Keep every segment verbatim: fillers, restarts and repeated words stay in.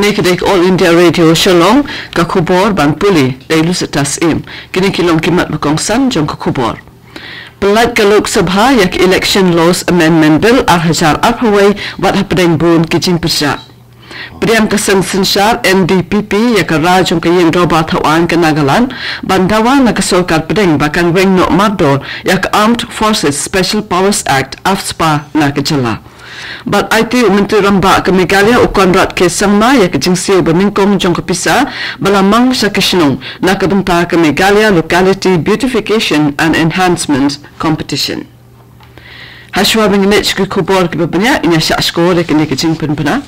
Kane ka dei ka All India Radio Shillong, ka khubor ban pule da i Lucetta Syiem. Kine ki long ki mat ba kongsan jong ka khubor. Pyllait ka Lok Sabha ïa ka Election Laws Amendment Bill ar hajar arphew wei wat hapdeng bun ki jingpyrshah. Pdiang ka seng synshar N D P P ïa ka rai jong ka Ïing Dorbar Thawaiñ ka Nagaland ban dawa na ka sorkar pdeng ba kan weng noh mardor ïa ka Armed Forces Special Powers Act, AFSPA, na ka jylla. Bad aiti u Myntri Rangbah ka Meghalaya u Conrad K Sangma ïa ka jingsiew ba nyngkong jong ka pisa ba la mang sha ki shnong na ka bynta ka Meghalaya Locality Beautification and Enhancement Competition. Hashwa ba ngin leit sha ki khubor kiba bniah, ngin ïa shah shkor ïa kine ki jingpynbna.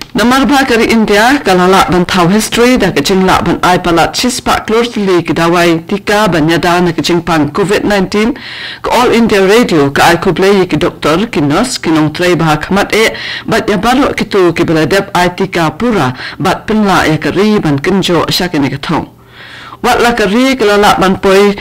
Namar ba ka ri India ka la lah ban thaw history da ka jinglah ban ai palat shispah klur tylli ki dawai tika ban ïada na ka jingpang covid nineteen, ka All India Radio ka ai khublei ïa ki doktor, ki nurse, ki nongtrei ba ha khmat eh bad ïa baroh kito kiba la dep ai tika pura bad pynlah ïa ka ri ban kynjoh sha kane ka thong. Wat la ka ri ka la lah ban poi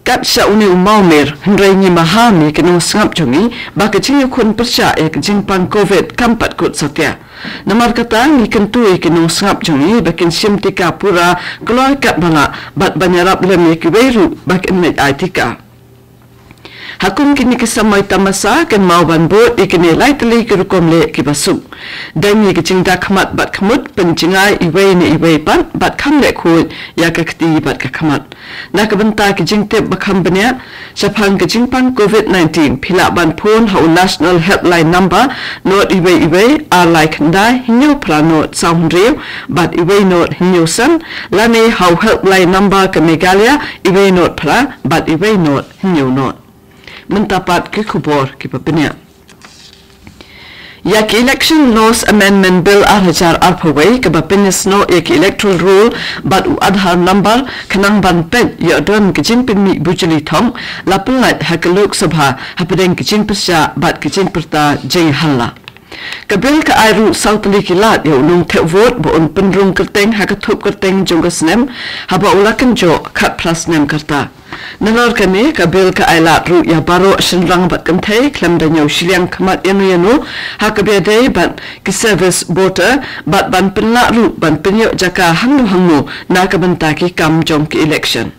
kat sha une u mawmer, hynrei ngi maham ïa ki nongsngap jong ngi ba ka jingïakhun pyrshah ïa ka jingpang covid kam pat kut satia. Namar kata ngi kyntu ïa ki nongsngap jong ngi ba kin shim tika pura kloi katba lah bad ban ïarap lem ïa kiwei ruh ba kin leit ai tika. Ha kum kine ki samoi tamasa, kynmaw ban bud ïa kine lai tylli ki rukom leh kiba suk. Deng ïa ki jingda khmat bad khmut, pynjngai iwei na iwei pat bad kham leh khuid ïa ka kti bad ka khmat. Na ka bynta ki jingtip ba kham bniah shaphang ka jingpang covid nineteen, phi lah ban phone ha u National Helpline Number, not iwei iwei ar lai khyndai hynñiew phra not saw hynriew bad iwei not hynñiew san, lane ha u Helpline Number ka Meghalaya, iwei not phra bad iwei not hynñiew not. Mynta pat ki khubor kiba bniah. Ïa ki Election Laws Amendment Bill ar hajar arphew wei kaba pynïasnoh ïa ki Electoral Roll bad u Aadhaar Number khnang ban peit ïoh don ka jingpynmih bujli thong, la pyllait ha ka Lok Sabha hapdeng ka jingpyrshah bad ka jingpyrta jingïahalla. Ka bill ka ai ruh saw tylli ki lad ïa u nongthep vote ba un pynrung kyrteng ha ka thup kyrteng jong ka snem haba u la kynjoh khatphra snem ka rta. Nalor kane, ka bill ka ai lad ruh ïa baroh shynrang bad kynthei khlem da ñiew shiliang khmat ïano ïano ha kaba ïadei bad ki service voter bad ban pynlah ruh ban pynïoh jaka hangno hangno na ka bynta ki kam jong ki election.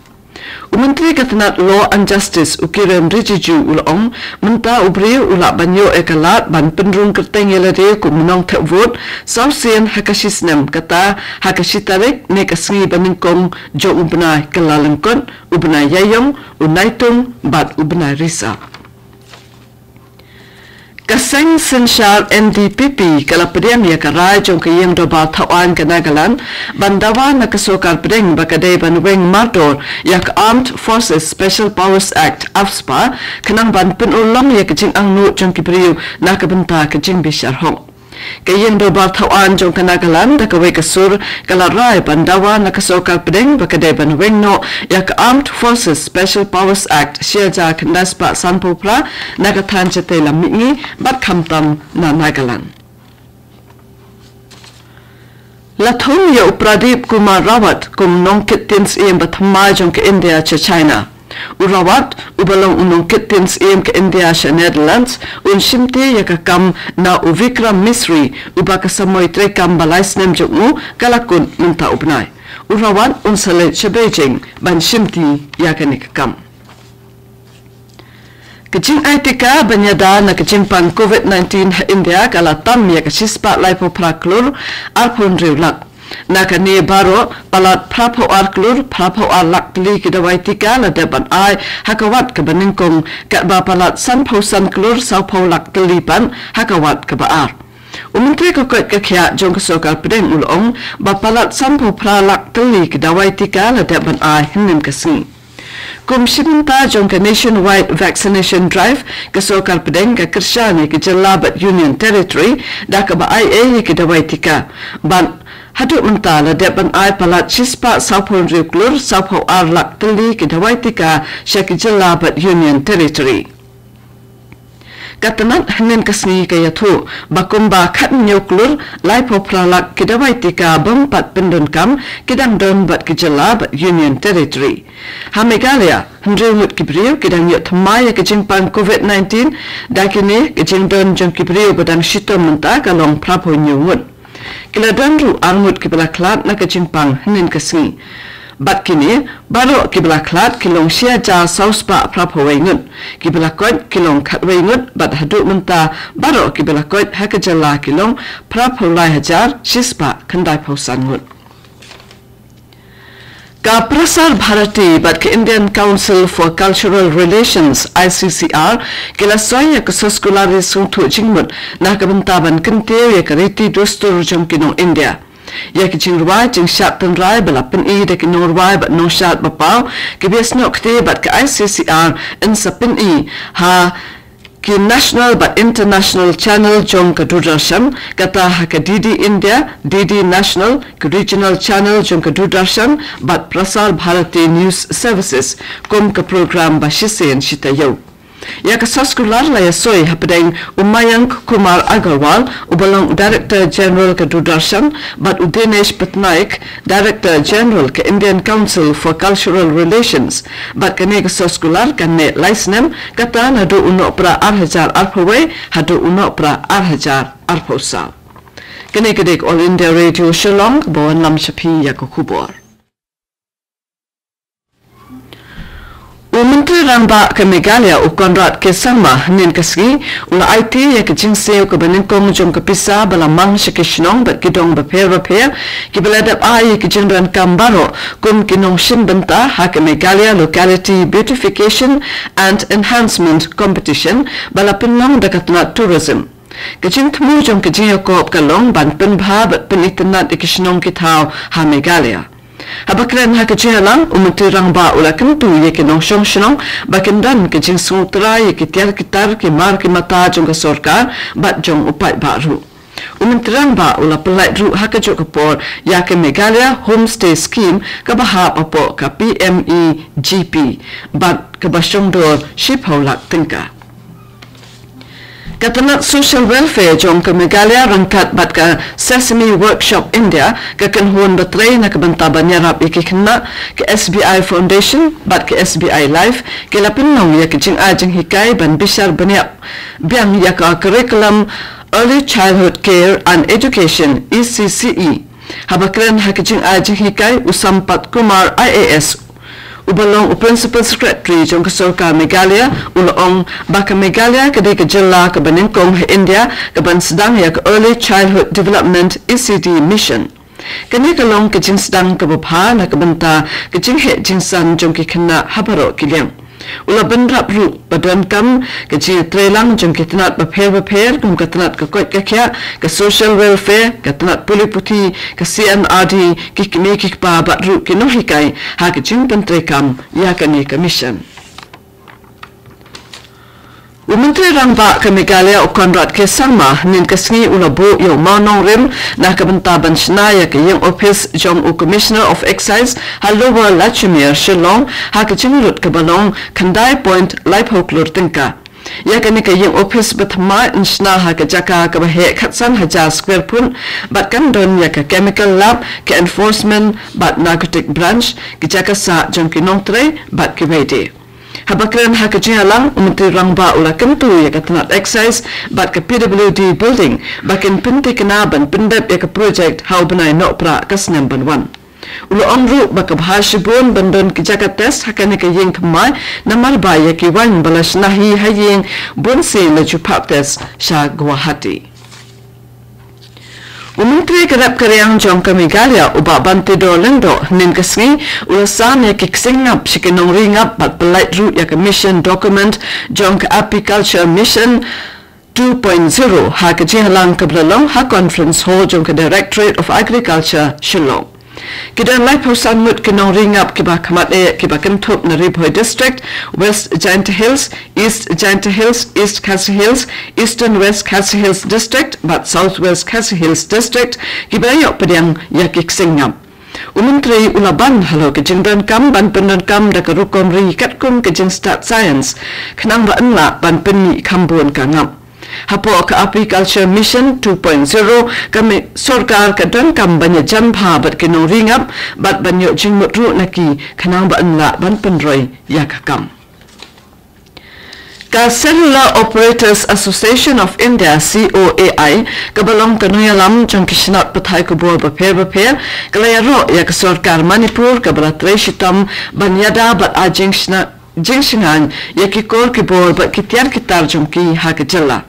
U Myntri ka tnat Law and Justice u Kiren Rijiju u la ong, mynta u briew u lah ban ïoh ïa ka lad ban pynrung kyrteng ïa lade kum u nongthep vote saw sien ha ka shi snem, kata ha ka shi tarik ne ka sngi ba nyngkong jong u bnai Kyllalyngkot, u bnai Ïaïong, u Naitung bad u bnai Risa. Ka seng synshar N D P P ka la pdiang ïa ka rai jong ka Ïing Dorbar Thawaiñ ka Nagaland ban dawa na ka sorkar pdeng ba ka dei ban weng mardor ïa ka Armed Forces Special Powers Act, AFSPA, khnang ban pynurlong ïa ka jingangnud jong ki briew na ka bynta ka jingbishar hok. Ka Ïing Dorbar Thawaiñ jong ka Nagaland da kawei ka sur ka la rai ban dawa na ka sorkar pdeng ba ka dei ban weng noh ïa ka Armed Forces Special Powers Act shi hajar khyndai spah sanphew phra na ka thaiñ shatei lam mihngi bad khamtam na Nagaland. La thung ïa u Pradip Kumar Rawat kum nongkit tien syiem ba thymmai jong ka India sha China. U Rawat, uba long u nongkit tien syiem ka India sha Netherlands, un shimti ïa ka kam na u Vikram Misri, uba ka samoi treikam ba lai snem jong u ka la kut mynta u bnai. U Rawat un sa leit sha Beijing ban shimti ïa kane ka kam. Ka jingai tika ban ïada na ka jingpang covid nineteen ha India ka la tam ïa ka shispah laiphew phra klur arphew hynriew lak. Na kane baroh, palat phraphew ar klur phraphew ar lak tylli ki dawai tika la dep ban ai ha ka wat kaba nyngkong, katba palat sanphew san klur sawphew lak tylli pat ha ka wat kaba ar. U Myntri ka koit ka khiah jong ka sorkar pdeng u la ong ba palat sanphew phra lak tylli ki dawai tika la dep ban ai hynnin ka sngi. Kum shi bynta jong ka Nationwide Vaccination Drive, ka sorkar pdeng ka kyrshan ïa ki jylla bad Union Territory da kaba ai ei ïa ki dawai tika. Bad haduh mynta la dep ban ai palat shispah sawphew hynriew klur sawphew ar lak tylli ki dawai tika sha ki jylla bad Union Territory. Ka tnat hynnin ka sngi ka ïathuh ba kumba khathynñiew klur laiphew phra lak ki dawai tika bym pat pyndonkam ki dang don bad ki jylla bad Union Territory. Ha Meghalaya, hynriew ngut ki briew ki dang ïoh thymmai ïa ka jingpang covid nineteen, da kine ka jingdon jong ki briew ba dang shitom mynta ka long phraphew hynñiew ngut. Ki la don ruh arngut kiba la khlad na ka jingpang hynnin ka sngi. Bad kine baroh kiba la khlad ki long shi hajar saw spah phra phew wei ngut. Kiba la koit ki long khatwei ngut bad haduh mynta baroh kiba la koit ha ka jylla ki long phra phew lai hajar shi spah khyndai phew san ngut. Ka Prasar Bharati bad ka Indian Council for Cultural Relations, I C C R, ki la soi ïa ka soskular ri sngewthuh jingmut na ka bynta ban kyntiew ïa ka riti dustur jong ki nong India. Ïa ki jingrwai jingshad tynrai ba la pyni da ki nongrwai bad nongshad ba paw, ki ba ïasnoh kti bad ka I C C R yn sa pyni ha ki national bad international channel jong ka Doordarshan, kata ha ka D D India, D D National, ka regional channel jong ka Doordarshan bad Prasar Bharati News Services kum ka program ba shisien shi taïew. Ïa ka soskular la ïasoi hapdeng u Mayank Kumar Agarwal, uba long Director General ka Doordarshan, bad u Dinesh Patnaik, Director General ka Indian Council for Cultural Relations. Bad kane ka soskular kan neh lai snem, kata naduh u Nohprah ar hajar arphew wei haduh u Nohprah ar hajar arphew saw. Kane ka dei ka All India Radio Shillong, ba wanlam sha phi ïa ka khubor. U Myntri Rangbah ka Meghalaya u Conrad K Sangma hynnin ka sngi u la aiti ïa ka jingsiew kaba nyngkong jong ka pisa ba la mang sha ki shnong bad ki dong bapher bapher kiba la dep ai ïa ki jingdonkam baroh kum ki nongshim bynta ha ka Meghalaya Locality Beautification and Enhancement Competition ba la pynlong da ka tnat tourism. Ka jingthmu jong ka jingïakob ka long ban pynbha bad pynitynnad ïa ki shnong ki thaw ha Meghalaya. Haba kren ha ka jingïalang, u Myntri Rangbah u la kyntu ïa ki nongshong shnong ba kin don ka jingsngewthuh ïa ki tiar ki tar, ki mar ki mata jong ka sorkar bad jong u paidbah ruh. U Myntri Rangbah u la pynlait ruh ha kajuh ka por ïa ka Meghalaya Homestay Scheme kaba hap hapoh ka P M E G P bad kaba shongdor shiphew lak tyngka. Ka tnat Social Welfare jong ka Meghalaya ryngkat bad ka Sesame Workshop India, ka kynhun ba trei na ka bynta ban ïarap ïa ki khynnah, ka S B I Foundation bad ka S B I Life, ki la pynlong ïa ka jingai jinghikai ban bishar bniah biang ïa ka Curriculum Early Childhood Care and Education, E C C E. Haba kren ha ka jingai jinghikai, u Sampath Kumar I A S, uba long u Principal Secretary jong ka sorkar Meghalaya, u la ong ba ka Meghalaya ka dei ka jylla kaba nyngkong ha India kaban sdang ïa ka Early Childhood Development, E C D, Mission. Kane ka long ka jingsdang kaba bha na ka bynta ka jingheh jingsan jong ki khynnah ha baroh ki liang. U la bynrap ruh ba donkam ka jingïatreilang jong ki tnat bapher bapher kum ka tnat ka koit ka khiah, ka social welfare, ka tnat pule puthi, ka C M R D, ki kmie ki kpa bad ruh ki nonghikai ha ka jingpyntreikam ïa kane ka mission. U Myntri Rangbah ka Meghalaya u Conrad K Sangma hynnin ka sngi u la buh ïa u mawnongrim na ka bynta ban shna ïa ka ïing ophis jong u Commissioner of Excise ha Lower Lachmere, Shillong, ha ka jinglut kaba long khyndai point laiphew klur tyngka. Ïa kane ka ïing ophis ba thymmai yn shna ha ka jaka kaba heh khatsan hajar square foot bad kan don ïa ka chemical lab, ka enforcement bad narcotic branch, ki jaka sah jong ki nongtrei bad kiwei de. Haba kren ha ka jingïalang, u Myntri Rangbah u la kyntu ïa ka tnat Excise bad ka P W D Building ba kin pynthikna ban pyndep ïa ka project ha u bnai Nohprah ka snem ban wan. U la ong ruh ba ka bha shibun ban don ki jaka test ha kane ka ïing thymmai namar ba ïa ki waiñ ba la shna hi ha ïing bun sien la ju phah test sha Guwahati. U Myntri ka rep ka riang jong ka Meghalaya u Bah Banteidor Lyngdoh hynnin ka sngi u la sam ïa ki ksing ngap sha ki nongri ngap bad pynlait ruh ïa ka mission document jong ka Apiculture Mission two point zero ha ka jingïalang kaba la long ha Conference Hall jong ka Directorate of Agriculture, Shillong. Ki don laiphew san ngut ki nongri ngap kiba khmat eh kiba kynthup na Ri Bhoi District, West Jaintia Hills, East Jaintia Hills, East Khasi Hills, Eastern West Khasi Hills District bad South West Khasi Hills District kiba ïoh pdiang ïa ki ksing ngap. U Myntri u la ban halor ka jingdonkam ban pyndonkam da ka rukom ri katkum ka jingstad science khnang ba yn lah ban pynmih kham bun ka ngap. Hapoh ka Apiculture Mission two point zero, ka mi-, sorkar ka donkam ban ïajan bha bad ki nongri ngap bad ban ïoh jingmut ruh na ki khnang ba yn lah ban pynroi ïa ka kam. Ka Cellular Operators Association of India, C O A I, kaba long ka nongïalam jong ki shnat pathai khubor bapher bapher, ka la ïaroh ïa ka sorkar Manipur kaba la trei shitom ban ïada bad ai jingshna-, jingshngaiñ ïa ki kor ki bor bad ki tiar ki tar jong ki ha ka jylla.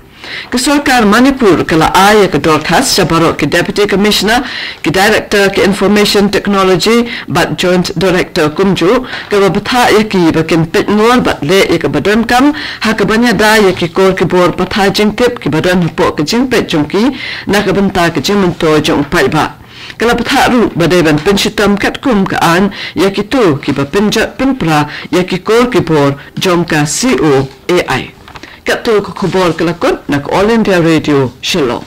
Ka sorkar Manipur ka la ai ïa ka dorkhas sha baroh ki Deputy Commissioner, ki Director ki Information Technology bad Joint Director kumjuh, kaba bthah ïa ki ba kin peit ngor bad leh ïa kaba donkam ha kaban ïada ïa ki kor ki bor pathai jingtip kiba don hapoh ka jingpeit jong ki na ka bynta ka jingmyntoi jong u paidbah. Ka la bthah ruh ba dei ban pynshitom katkum ka aiñ ïa kito kiba pynjot pynpra ïa ki kor ki bor jong ka C O A I. Katto ka khubor ka la kut na ka All India Radio Shillong.